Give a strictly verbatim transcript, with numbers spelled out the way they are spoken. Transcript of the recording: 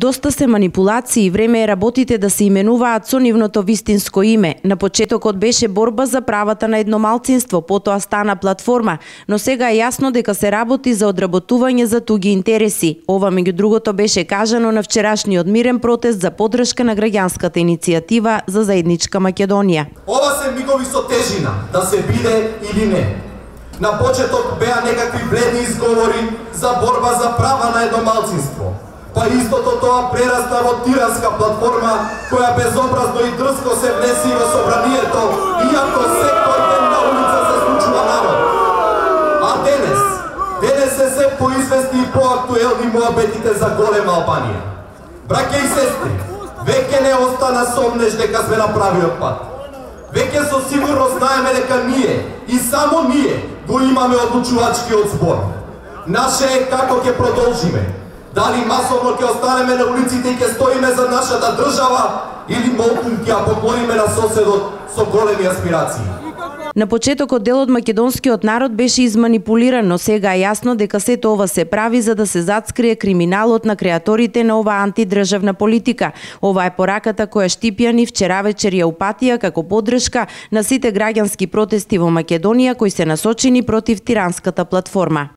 Доста се манипулации и време е работите да се именуваат со нивното вистинско име. На почетокот беше борба за правата на едномалцинство, потоа стана платформа, но сега е јасно дека се работи за одработување за туги интереси. Ова меѓу другото беше кажано на вчерашниот мирен протест за поддршка на граѓанската иницијатива за заедничка Македонија. Ова се мигови со тежина, да се биде или не. На почеток беа некакви бледни изговори за борба за права на едномалцинство. Па истото тоа прерасна во тиранска платформа која безобразно и дрско се внеси во собранието, иако секој ден на улица се случува народ. А денес, денес се се поизвестни и поактуелни муабетите за голема Албанија. Браќа и сестри, веќе не остана сомнеш дека сме на правиот пат. Веќе со сигурност знаеме дека ние, и само ние, го имаме одлучувачкиот збор. Наше е како ќе продолжиме. Дали масовно ќе останеме на улиците и ќе стоиме за нашата држава или молкум ќе ја поклониме на соседот со големи аспирации. На почетокот дел од македонскиот народ беше изманипулиран, но сега е јасно дека сето ова се прави за да се зацкрие криминалот на креаторите на оваа антидржавна политика. Ова е пораката која Штипјани вчера вечер ја упатија како поддршка на сите граѓански протести во Македонија кои се насочени против тиранската платформа.